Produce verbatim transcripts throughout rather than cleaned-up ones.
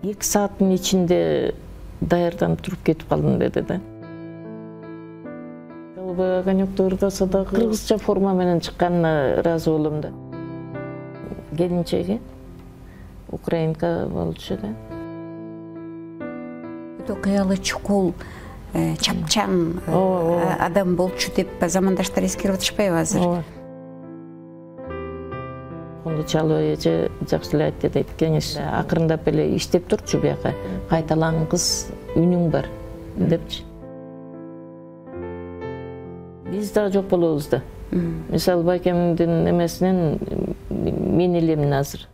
эки сааттын ичинде даярданып туруп кетип калдым деди да. Жалбы огонёкту ырдаса да кыргызча форма менен чыкканына ыраазы болом да. Келинчеги украинка болчу да. Өтө кыялы чукул, чапчан адам болчу деп замандаштар эскерип атышпайбы азыр? Онду чалуу эже жакшы эле айтты дейт, кеңеш акырындап эле иштеп турчу бияка, кайталангыс үнүң бар депчи. Биз да жок болобуз да. Мисалы байкемдин эмесинен мен элемин азыр.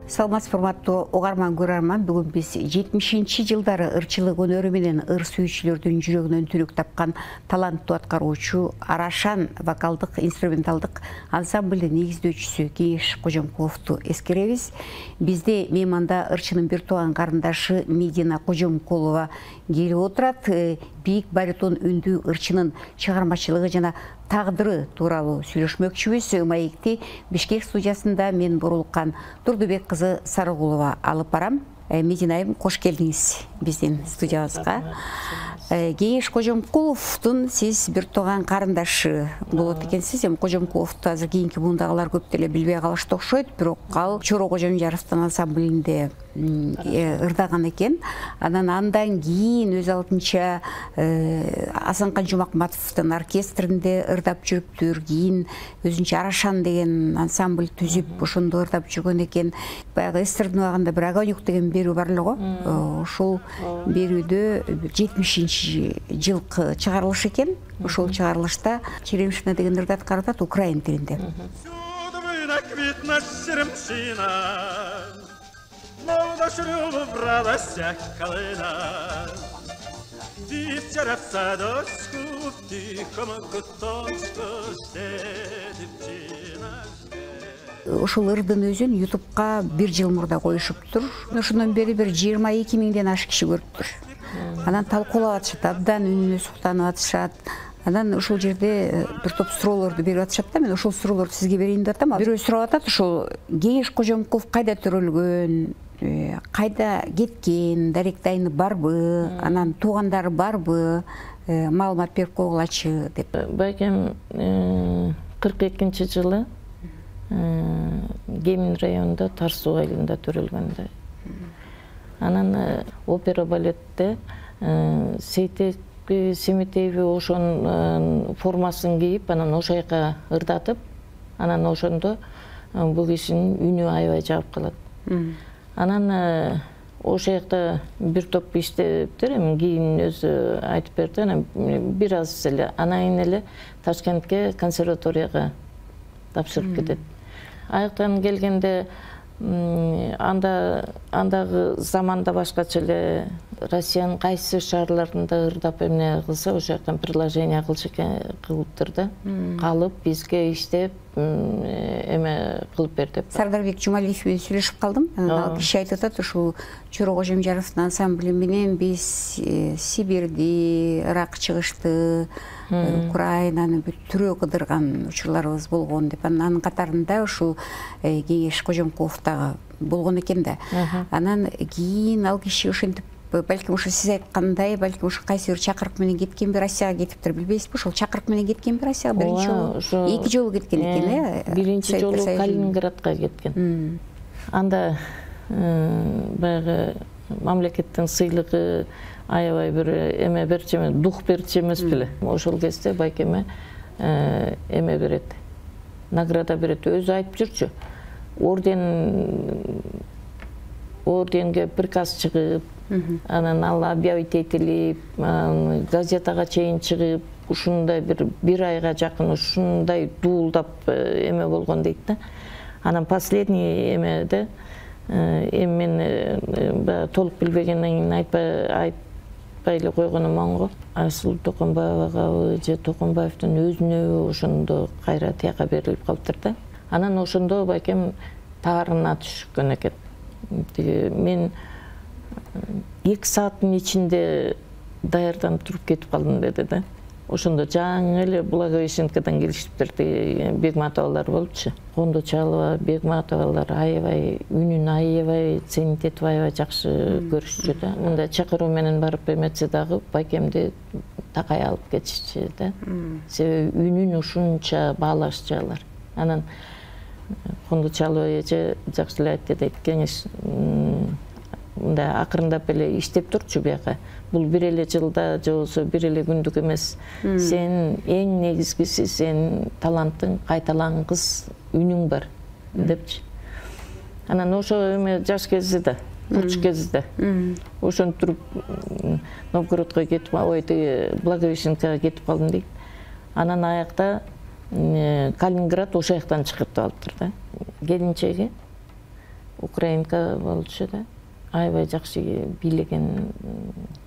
Саламатсыз урматтуу угарман көрөрман, бүгүн биз жетимишинчи жылдары ырчылык өнөрү менен ыр сүйүүчүлөрдүн жүрөгүнөн түнүк тапкан таланттуу аткаруучу Арашан вокалдык инструменталдык ансамблдин негиздөөчүсү Кеңеш Кожомкуловду эскеребиз. Бизде мейманда ырчынын бир тууган карындашы Медина Кожомкулова келип отурат. Бийик баритон үндүү ырчынын чыгармачылыгы жана тагдыры тууралуу сүйлөшмөкчүбүз. Маекти Бишкек студиясында мен Бурулкан Турдубек кызы Сарыгулова алып барам. Мединайым, кош келдиңиз биздин студиябызга. Кеңеш Кожомкуловдун сиз бир тууган карындашы болот экенсиз. Эми Кожомкуловду азыр кийинки бундагылар көп деле билбей калышты окшойт, бирок ал Чоро Кожомжаровдун ансамблинде ырдаган экен. Анан андан кийин өз алдынча Асанкан Жумакматовдун оркестринде ырдап жүрүптүр. Кийин өзүнчө Арашан деген ансамбль түзүп, ошондо ырдап жүргөн экен. Баягы эстердин убагында бир огонёк деген берүү бар эле го. Ошол берүүдө жетимишинчи жылкы чыгарылыш экен. Ошол чыгарылышта Черемшина деген ырды аткарып атат украин тилинде. Ошол ырдын өзүн ютубка бир жыл мурда коюшуптур. Ошондон бери бир жыйырма эки миңден ашык киши көрүптүр. Анан талкуулап атышат, абдан үнүнө суктанып атышат. Анан ошол жерде бир топ суроолорду берип атышат да. Мен ошол суроолорду сизге берейин деп атам. Бирөө сурап атат, ошол Кеңеш Кожомкулов кайда төрөлгөн, кайда кеткен, даректайны барбы, анан туугандары барбы, маалымат берип койгулачы деп. Байкем кырк экинчи жылы Кемин районунда Тар суу айылында төрөлгөн да. Анан опера балетте Сейтек Семетееви ошонун формасын кийип, анан ошол жака ырдатып, анан ошондо бул кишинин үнү аябай жагып калат. Анан ошол жакта бир топ иштептир, эми кийин өзү айтып берди, анан бир аз эле анан кийин эле Ташкентке консерваторияга тапшырып кетет. Аяктан келгенде анда андагы заманда башкача эле Россиянын кайсы шаарларында ырдап эмне кылса ошол жактан предложение кылчу кылыптыр да. Калып бизге иштеп эме кылып бер деп. Сардарбек Жумалиев менен сүйлөшүп калдым. Ал киши айтып атат, ушул Чоро Кожомжаровдун ансамбли менен биз Сибирди, Ирак чыгышты, Украинаны бүт түрөө кыдырган учурларыбыз болгон деп. Анын катарында ушул Кеңеш Кожомкулов дагы болгон экен да. Анан кийин ал киши ошентип, балким ошо сиз айткандай, балким ошо кайсы бир чакырык менен кеткенби, Россияга кетиптир, билбейсизби? Ошол чакырык менен кеткенби Россияга биринчи жолу? Эки жолу кеткен экен, э? Биринчи жолу Калининградка кеткен. Анда баягы мамлекеттин сыйлыгы аябай бир эме берчү эмес, дух берчү эмес беле. Ошол кезде байкеме эме берет, награда берет. Өзү айтып жүрчү. Орден орденге приказ чыгып, анан ал объявить этилип, газетага чейин чыгып, ушундай бир бир айга жакын ушундай дуулдап эме болгон дейт да. Анан последний эмеде эми мен толук билбегенден кийин айтпай айтпай эле койгонум оңго. Айсулуу Токонбаевага же Токонбаевдин өзүнө ошондо кайра тияка берилип калыптыр да. Анан ошондо байкем таарына түшкөн экен. Мен эки сааттын ичинде даярданып туруп кетип калдым деди да. ошондо жаңы эле Благовещенкадан келишиптир, Бегматовалар болупчу. Кондочалова, Бегматовалар аябай үнүн аябай ценит этип аябай жакшы көрүшчү да. Мындай чакыруу менен барып эметсе дагы байкемди такай алып кетишчү да. Себеби үнүн ушунча баалашчу алар. Анан Кондочалова эже жакшы эле айтты дейт, кеңеш мындай акырындап эле иштеп турчу бияка. Бул бир эле жылда же болбосо бир эле күндүк эмес. Сен эң негизгиси сен таланттың кайталангыс үнүң бар депчи. Анан ошо эме жаш кезде, курч кезде. Ошентип туруп Новгородко кетип, ой, Благовещенкага кетип калдым дейт. Анан аякта Калининград ошол жактан чыгыртып алыптыр да. Келинчеги украинка болчу да. Аябай жакшы бийлеген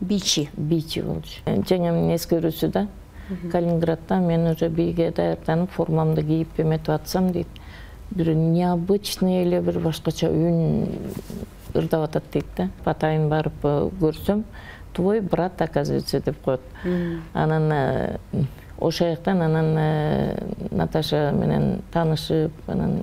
бийчи бийчи болчу. Жеңемдин эскерүүсү да, Калининградда мен уже бийге даярданып, формамды кийип эметип атсам дейт, бир необычный эле бир башкача үн ырдап атат дейт да. Атайын барып көрсөм, твой брат, оказывается, деп коет. Анан ошол жактан анан Наташа менен таанышып, анан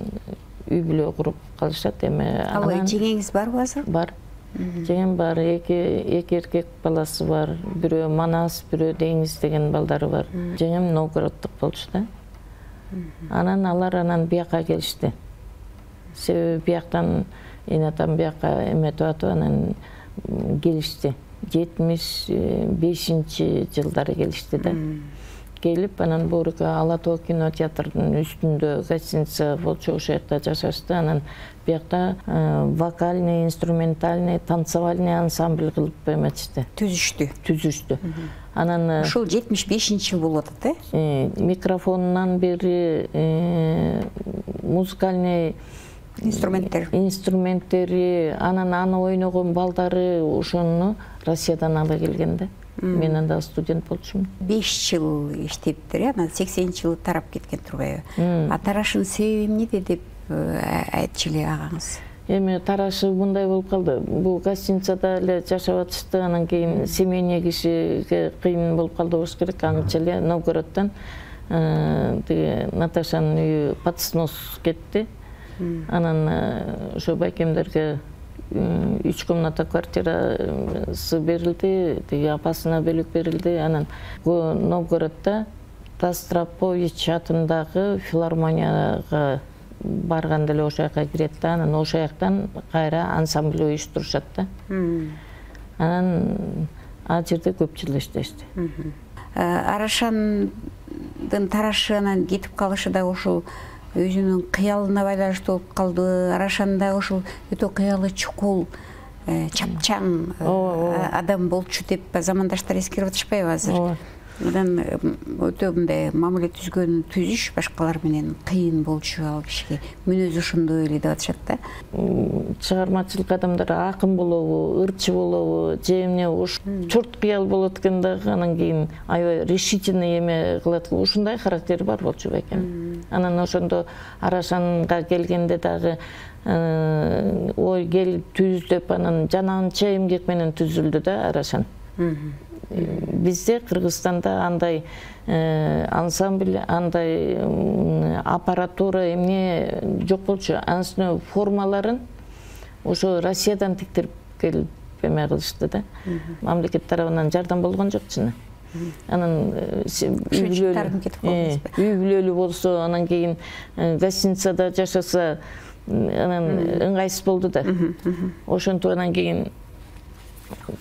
үй бүлө куруп калышат. Эми анан жеңеңиз барбы азыр? Бар. Жеңем бар, эки эки эркек баласы бар. Бирөө Манас, бирөө Деңиз деген балдары бар. Жеңем Новгороддук болчу да. Анан алар анан бияка келишти. Себеби бияктан эне атам бияка эметип атып анан келишти. жетимиш бешинчи жылдары келишти да. Келип анан Борика Ала Тоо кинотеатрдын үстүндө гостиница болчу, ошол жакта жашашты. Анан биякта вокальный, инструментальный, танцевальный ансамбль кылып эметишти. Түзүштү. Түзүштү. Анан ушул жетимиш бешинчи жыл болуп атат, э? Микрофонунан бери музыкальный инструменттер. Инструменттери, анан аны ойногон балдары ошону Россиядан ала келген да. Мен анда студент болчумун. беш жыл иштептир, анан сексенинчи жылы тарап кеткен турбайбы? А тарашын себеби эмнеде деп айтчу эле агаңыз? Эми тарашы мындай болуп калды. Бул гостиницада эле жашап атышты, анан кийин семейный кишиге кыйын болуп калды болуш керек. Аңча эле Новгороддон тиги Наташанын үйү под снос кетти. Анан ошо байкемдерге үч комната квартирасы берилди, тиги апасына бөлүк берилди. Анан Новгороддо Тастропович атындагы филармонияга барганда эле ошол жака кирет да, анан ошол жактан кайра ансамбль уюштурушат да. Анан ал жерде көп жыл иштешти. Арашандын тарашы анан кетип калышы да ошол өзүнүн кыялына байланыштуу болуп калды. Арашан да ошол өтө кыялы чукул, чапчаң адам болчу деп замандаштар эскерип атышпайбы азыр? Анан өтө мындай мамиле түзгөн түзүш башкалар менен кыйын болчу ал кишиге. Мүнөзү ошондой эле деп атышат да. Чыгармачылык адамдар акын болобу, ырчы болобу, же эмне уш чурт кыял болот экен дагы, анан кийин аябай решительный эме кылат. Ушундай характери бар болчу бекем. Анан ошондо Арашанга келгенде дагы ой келип түз деп анан жананча эмгек менен түзүлдү да Арашан. Бизде Кыргызстанда андай ансамбль, андай аппаратура эмне жок болчу. Анын формаларын ошо Россиядан тиктирип келип эме кылышты да. Мамлекет тарабынан жардам болгон жок чын. Анан үй бүлөлүү болсо, анан кийин гостиницада жашаса, анан ыңгайсыз болду да. Ошентип анан кийин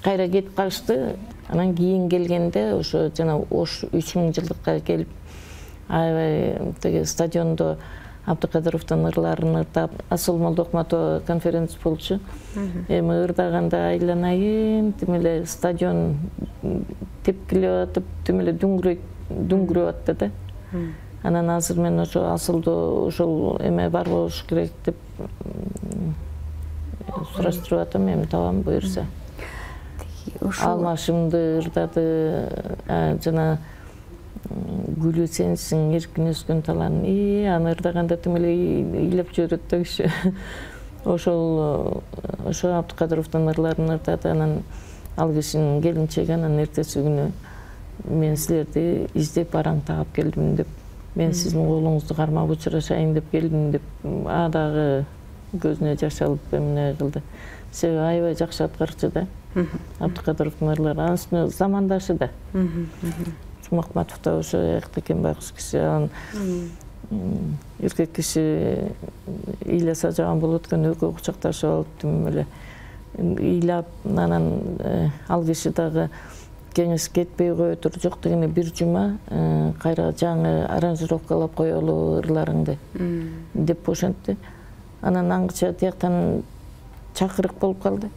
кайра кетип калышты. Анан кийин келгенде ошо жана Ош үч миң жылдыкка келип аябай тиги стадиондо Абдыкадыровдун ырларын ырдап, Асыл Молдохматова конференция болчу. Эми ырдаганда айланайын, тим эле стадион тепкилеп атып, тим эле дүңгүрөп атты да. Анан азыр мен ошо Асылды ошол эме бар болуш керек деп сураштырып атам, эми табам буюрса. Алмашымды ырдады, жана гүлү сенсиң, эркин өскөн талан. И аны ырдаганда тим эле ыйлап жиберет да киши. Ошол ошо Абдыкадыровдун ырларын ырдады, анан ал кишинин келинчеги анан эртеси күнү мен силерди издеп бараң таап келдим деп, мен сиздин колуңузду кармап учурашайын деп келдим деп, а дагы көзүнө жаш алып эмне кылды. Себеби аябай жакшы аткарчу да. Абдыкадыровдун ырлары, анын үстүнө замандашы да. Жумакматов да ошо экен байкуш киши, анан эркек киши ыйласа жаган болот экен, экөө кучакташып алып тим эле ыйлап, анан ал киши дагы кеңеш кетпей кое тур, жок дегенде бир жума кайра жаңы аранжировкалап коелу ырларыңды деп ошентти. Анан аңгыча тияктан чакырык болуп калды.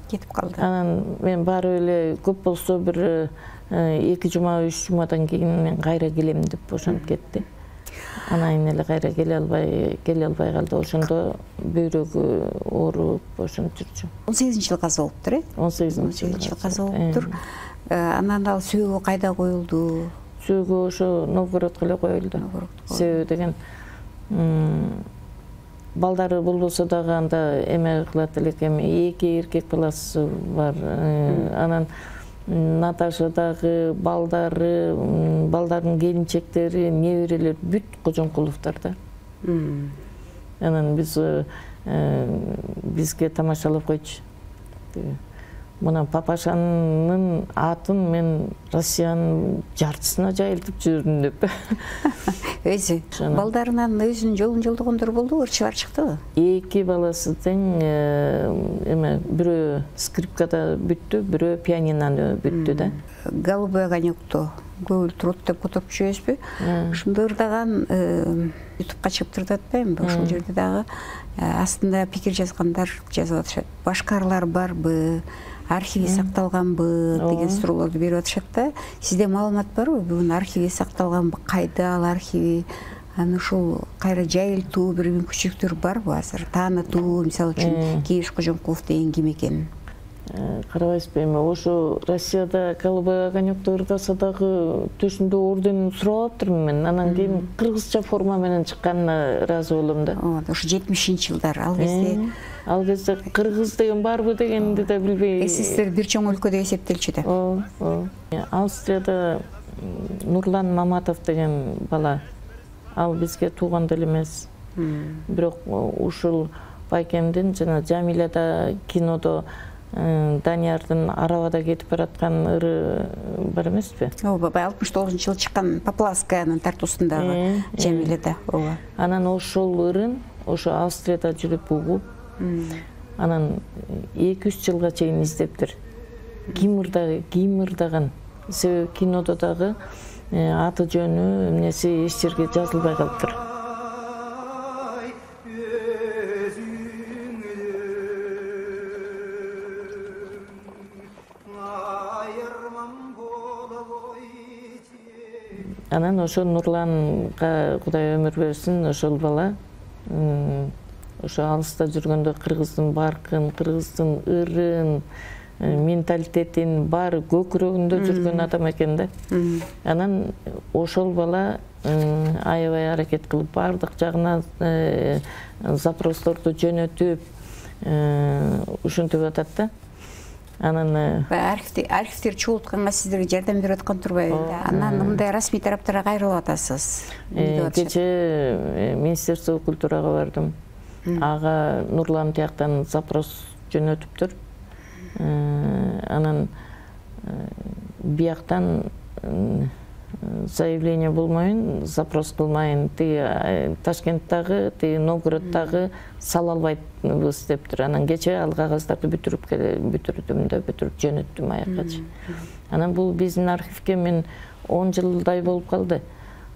Кетип калды. Анан мен барып эле көп болсо бир эки жума, үч жумадан кийин мен кайра келем деп ошентип кетти. Анан эле кайра келе албай, келе албай калды. Ошондо бөйрөгү ооруп ошентип жүрчү. он сегизинчи жылы каза болуптур, э? он сегизинчи жылы каза болуптур. Анан ал сөөгү кайда коюлду? Сөөгү ошо Новгородко эле коюлду. Себеби деген балдары болбосо дагы анда эме кылат элек, эми эки эркек баласы бар. Анан Наташа дагы, балдары, балдардын келинчектери, неберелер бүт Кожомкуловдор да. Анан биз бизге тамашалап койчу. Мына папашанын атын мен Россиянын жартысына жайылтып жүрдүм деп. Өзү балдарынан өзүнүн жолун жолдогондор болду, ырчылар чыктыбы? Эки баласы тең, эме бирөө скрипкада бүттү, бирөө пианинаны бүттү да. Голубой огонёкту көбүл турут деп которуп жүрөсүзбү? Ушунда ырдаган ютубка чыгып турат атпаймынбы? Ошол жерде дагы астында пикир жазгандар жазып атышат. Башка ырлар барбы? Архиви сакталганбы деген суроолорду берип атышат да. Сизде маалымат барбы? Бүгүн архиви сакталганбы? Кайда ал архиви? Аны ушул кайра жайылтуу бир мүмкүнчүлүктөр барбы азыр? Таанытуу, мисалы үчүн Кийиш Кожомкулов деген ким экенин? Карабайсызбы, эми ошо Россияда Голубой огонёкту ырдаса дагы төшүндө орден сурап атырмын мен. Анан кийин кыргызча форма менен чыкканына ыраазы болом да. Ошо жетимишинчи жылдар ал кезде ал кезде кыргыз деген барбы дегенди да билбей. СССР бир чоң өлкө деп эсептелчү да. Ооба. Австрияда Нурлан Маматов деген бала, ал бизге тууган деле эмес. Бирок ушул байкемдин жана Жамилада кинодо Даниярдын арабада кетип бараткан ыры бар эмеспи? Ооба, алтымыш тогузунчу жылы чыккан Поплавскаянын тартуусундагы Жамилада. Ооба. Анан ошол ырын ошо Австрияда жүрүп угуп, анан эки үч жылга чейин издептир. Ким ырдаган, ким ырдаган. Себеби кинодо дагы аты жөнү эмнеси эч жерге жазылбай калыптыр. Анан ошо Нурланга Кудай өмүр берсин, ошол бала ошо алыста жүргөндө кыргыздын баркын, кыргыздын ырын, менталитетин баары көкүрөгүндө жүргөн адам экен да. Анан ошол бала аябай аракет кылып баардык жагына запросторду жөнөтүп ушинтип атат да. Анан архивдер чогултканга сиздерге жардам берип аткан турбайбы? Анан мындай расмий тараптарга кайрылып атасыз. Кечээ Министерство культурага бардым. Ага Нурлан тияктан запрос жөнөтүптүр. Анан бияктан заявление болмойын, запрос кылмайын, тиги Ташкенттагы, тиги Новгороддагы сала албайбыз дептир. Анан кечээ ал кагаздарды бүтүрүп бүтүрдүм да, бүтүрүп жөнөттүм аяккачы. Анан бул биздин архивге мен он жылдай болуп калды.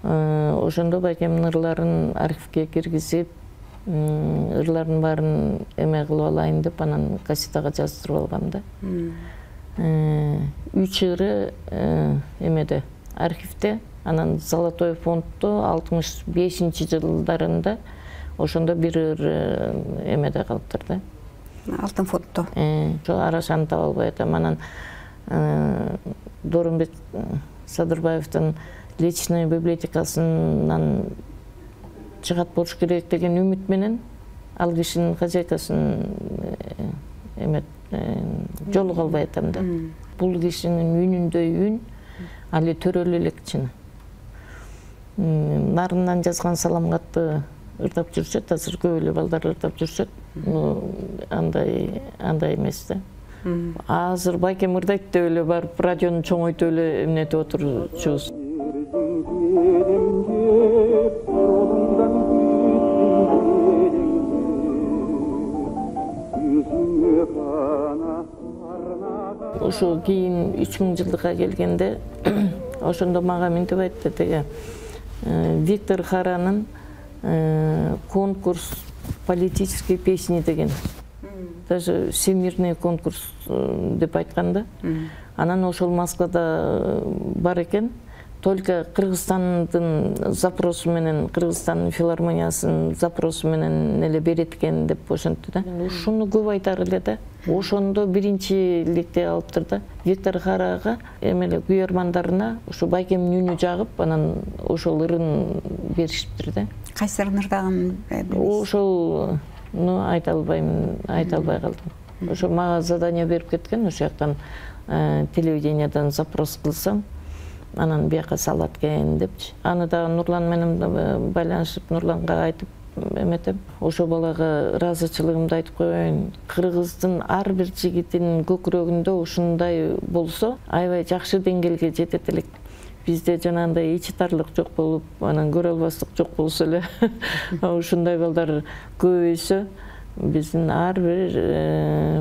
Ошондо байкемдин ырларын архивге киргизип, ырлардын баарын эме кылып алайын деп, анан кассетага жаздырып алгам да. Үч ыры эмеде архивде, анан Золотой фонддо алтымыш бешинчи жылдарында ошондо бир ыр эмеде калыптыр да. Алтын фонддо. Ошо арашаны таба албай атам. Анан Доорунбек Садырбаевдин личный библиотекасынан чыгат болуш керек деген үмүт менен ал кишинин хозяйкасын эме жолуга албай атам да. Бул кишинин үнүндөй үн, али төрөлө элек чын. Нарындан жазган салам катты ырдап жүрсөт, азыр көп эле балдар ырдап жүрсөт. Андай андай эмес да. Азыр байкем ырдайт деп эле барып радиону чоңойтуп эле эмнетип отурчубуз. Ошо кийин үч миң жылдыкка келгенде ошондо мага мынтип айтты деге Виктор Харанын конкурс политической песни деген. Даже всемирный конкурс деп айтканда. Анан ошол Москвада бар экен. Только Кыргызстандын запросу менен, Кыргызстандын филармониясынын запросу менен эле берет экен деп ошентти да. Ушуну көп айтар эле да. Ошондо биринчиликти алыптыр да. Виктор Харага эмеле күйөрмандарына ушу байкемдин үнү жагып, анан ошол ырын беришиптир да. Кайсы ырын ырдаган? Ошол ну айта албайм, айта албай калдым. Ошо мага задание берип кеткен, ошол жактан телевидениядан запрос кылсам, анан бияка салат экен депчи. Аны да Нурлан менен байланышып, Нурланга айтып эметем. Ошо балага ыраазычылыгымды айтып коеюн. Кыргыздын ар бир жигитинин көкүрөгүндө ушундай болсо, аябай жакшы деңгээлге жетет элек. Бизде жанагындай ичи тарлык жок болуп, анан көрө албастык жок болсо эле, ушундай балдар көбөйсө, биздин ар бир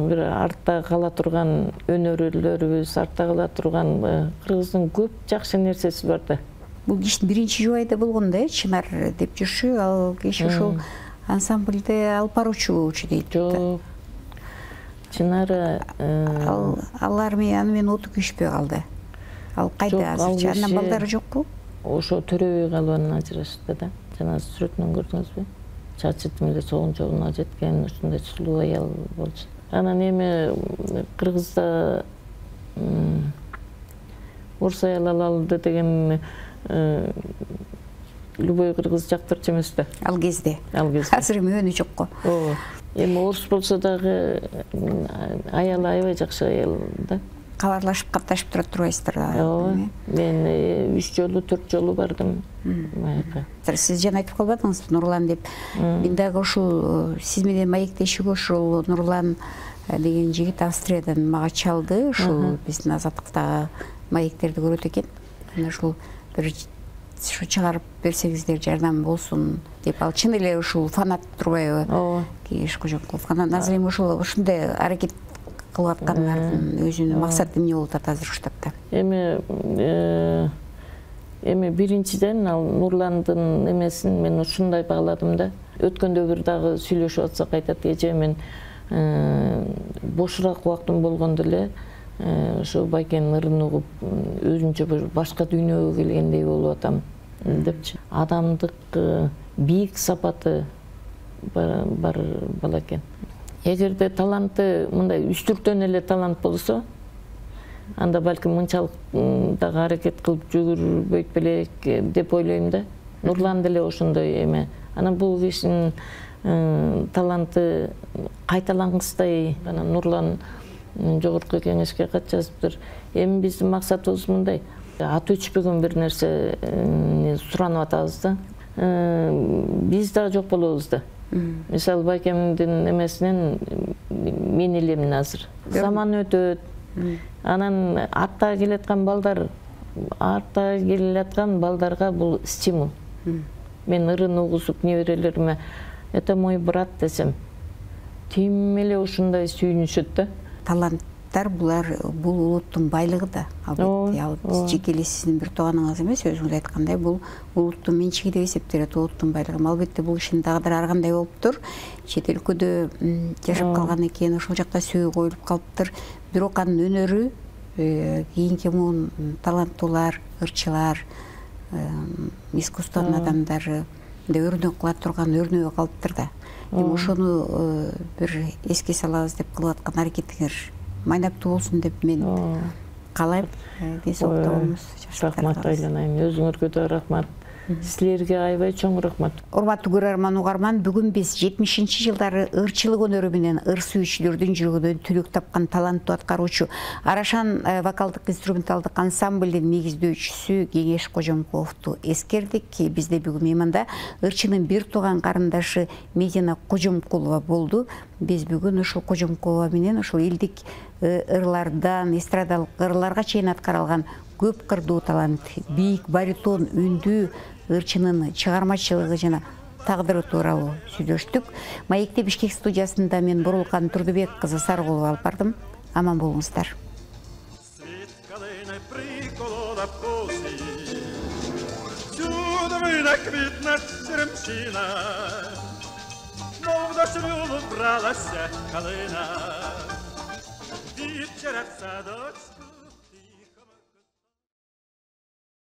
бир артта кала турган өнөрүлөрүбүз, артта кала турган Кыргыздын көп жакшы нерсеси бар да. Бул кишинин биринчи жубайда болгон да, Чынар деп жүрчү, ал киши ошол ансамбльде алып баруучу болчу дейт. Жок. Чынар ал алар менен менен оту күчпөй калды. Ал кайда азырчы? Андан балдары жокпу? Ошо Төрөбүй Калыбанын ажырашты да. Жана сүрөтүнөн көрдүңүзбү? Чачы тим эле соон жолуна жеткен ушундай сулуу аял болчу. Анан эми Кыргызда орус аял алалы деген любой кыргыз жактырчу эмес да. Ал кезде. Ал кезде. Азыр эми өнү жок го. Ооба. Эми орус болсо дагы аял аябай жакшы аял да. Кабарлашып, катташып турат турбайсыздар да. Ооба. Мен үч жолу, төрт жолу бардым. Майка. Сиз жана айтып калбадыңызбы Нурлан деп. Мен дагы ушул сиз менен маектешүүгө ушул Нурлан деген жигит Австриядан мага чалды. Ушул биздин азаттыктагы маектерди көрөт экен. Мына ушул бир ушу чыгарып берсеңиздер жардам болсун деп. Ал чын эле ушул фанат турбайбы? Ооба. Кийиш Кожомкулов. Анан азыр эми ушул ушундай аракет кылып аткандардын өзүнүн максаты эмне болуп атат азыр штатта? Эми эми биринчиден ал Нурландын эмесин мен ушундай бааладым да. Өткөндө бир дагы сүйлөшүп атсак айтат, эже мен бошураак убактым болгондо эле ошо байкенин ырын угуп өзүнчө бир башка дүйнөгө келгендей болуп атам депчи. Адамдык бийик сапаты бар бала экен. Эгерде таланты мындай үстүртөн эле талант болсо, анда балким мынчалык дагы аракет кылып жүгүрбөйт белек деп ойлойм да. Нурлан деле ошондой эме. Анан бул кишинин таланты кайталангыстай. Анан Нурлан жогорку кеңешке кат жазыптыр. Эми биздин максатыбыз мындай. Аты өчпөгөн бир нерсе суранып атабыз да. Биз да жок болобуз да. Мисалы байкемдин эмесинен мен элемин азыр. Заман өтөт. Анан артта келаткан балдар, артта келаткан балдарга бул стимул. Мен ырын угузуп неберелериме это мой брат десем, тим эле ушундай сүйүнүшөт да. Таланттар булар бул улуттун байлыгы да. Албетте, ал жеке эле сиздин бир тууганыңыз эмес, өзүңүз айткандай, бул улуттун менчиги деп эсептелет, улуттун байлыгы. Албетте бул кишинин тагдыры ар кандай болуптур. Чет өлкөдө жашап калган экен, ошол жакта сөөгө коюлуп калыптыр. Бирок анын өнөрү кийинки муун таланттуулар, ырчылар, искусствонун адамдары өрнөк кыла турган өрнөгү калыптыр да. Эми ошону бир эске салабыз деп кылып аткан аракетиңер майнаптуу болсун деп мен каалайм. Ден соолукта болуңуз. Рахмат айланайм. Өзүңөргө да рахмат. Силерге аябай чоң рахмат. Урматтуу көрөрман угарман, бүгүн биз жетимишинчи жылдары ырчылык өнөрү менен ыр сүйүүчүлөрдүн жүрөгүнөн түлүк тапкан таланттуу аткаруучу Арашан вокалдык инструменталдык ансамблдин негиздөөчүсү Кеңеш Кожомкуловду эскердик. Бизде бүгүн мейманда ырчынын бир тууган карындашы Медина Кожомкулова болду. Биз бүгүн ушул Кожомкулова менен ушул элдик ырлардан эстрадалык ырларга чейин аткарылган көп кырдуу талант, бийик баритон үндүү ырчынын чыгармачылыгы жана тагдыры тууралуу сүйлөштүк. Маекте Бишкек студиясында мен Бурулкан Турдубек кызы Сарыгулова алып бардым. Аман болуңуздар. Вечером в садочку